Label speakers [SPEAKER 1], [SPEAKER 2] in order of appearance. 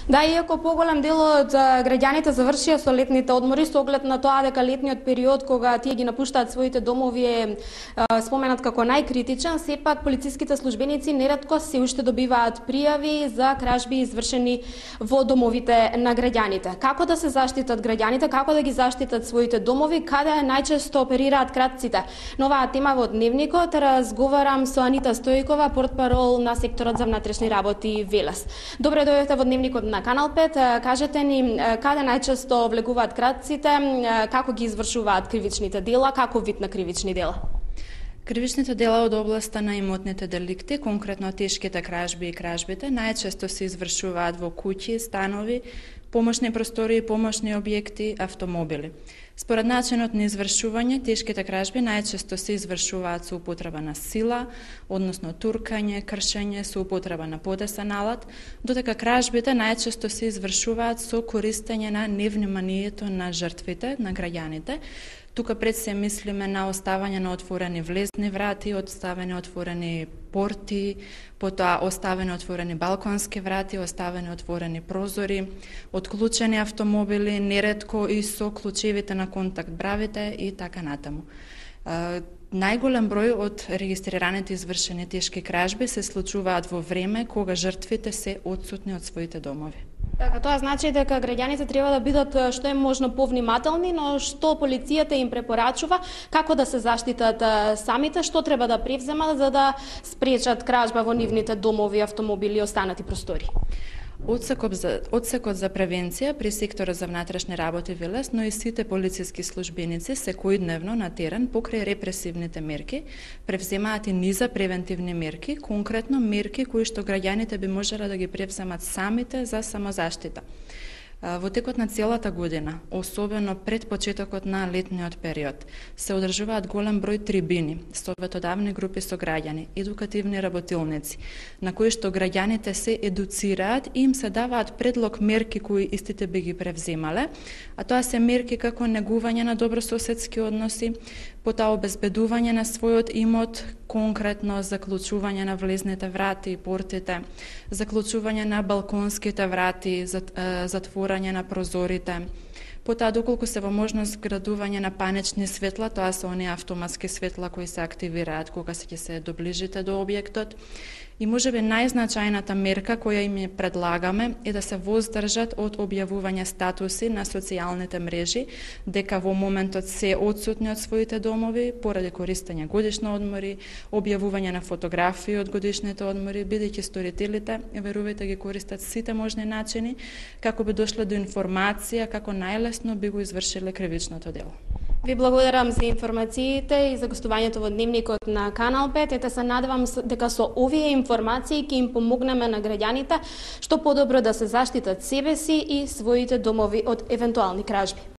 [SPEAKER 1] Да, иако поголем дел од граѓаните завршија со летните одмори, со оглед на тоа дека летниот период кога тие ги напуштаат своите домови е споменат како најкритичен, сепак полициските службеници неретко се уште добиваат пријави за кражби извршени во домовите на граѓаните. Како да се заштитат граѓаните, како да ги заштитат своите домови, каде најчесто оперираат кратците? На оваа тема во Дневникот разговарам со Анита Стојкова, портпарол на секторот за внатрешни работи Велес. Добре дојдовте во Дневникот на Канал 5. Кажете ни каде најчесто влегуваат кратците, како ги извршуваат кривичните дела, како вид на кривични дела?
[SPEAKER 2] Кривичните дела од областа на имотните деликти, конкретно тешките кражби и кражбите, најчесто се извршуваат во куќи, станови, помошни простории, помошни објекти, автомобили. Според начинот на извршување, тешките кражби најчесто се извршуваат со употреба на сила, односно туркање, кршење, со употреба на подесен алат, додека кражбите најчесто се извршуваат со користење на невниманието на жртвите, на граѓаните. Тука пред се мислиме на оставање на отворени влезни врати, оставени отворени порти, потоа оставени отворени балконски врати, оставени отворени прозори, отклучени автомобили, неретко и со клучевите на контакт бравите и така натаму. Најголем број од регистрираните извршени тешки кражби се случуваат во време кога жртвите се отсутни од своите домови.
[SPEAKER 1] Така, тоа значи дека граѓаните треба да бидат што е можно повнимателни, но што полицијата им препорачува, како да се заштитат самите, што треба да превземат за да спречат кражба во нивните домови, автомобили и останати простори. Одсекот за превенција при секторот за внатрешни работи Велес, но и сите полициски службеници секојдневно на терен покрај репресивните мерки превземаат и низа превентивни мерки, конкретно мерки кои што граѓаните би можеле да ги превземат самите за самозаштита. Во текот на целата година, особено пред почетокот на летниот период, се одржуваат голем број трибини, советодавни групи со граѓани, едукативни работилници, на кои што граѓаните се едуцираат и им се даваат предлог мерки кои истите би ги превземале, а тоа се мерки како негување на добрососедски односи, потоа обезбедување на својот имот, конкретно заклучување на влезните врати и портите, заклучување на балконските врати, затворање на прозорите, потоа доколку се во можност градување на панични светла, тоа се оние автоматски светла кои се активираат кога ќе се доближите до објектот. И можеби најзначајната мерка која им ја предлагаме е да се воздржат од објавување статуси на социјалните мрежи дека во моментот се отсутни од своите домови поради користење годишни одмори, објавување на фотографии од годишните одмори, бидејќи сторителите, верувајте, ги користат сите можни начини како би дошле до информација како најлесно би го извршиле кривичното дело. Ви благодарам за информациите и за гостувањето во Дневникот на Канал 5. Ете се надевам дека со овие информации ќе им помогнеме на граѓаните што подобро да се заштитат себе си и своите домови од евентуални кражби.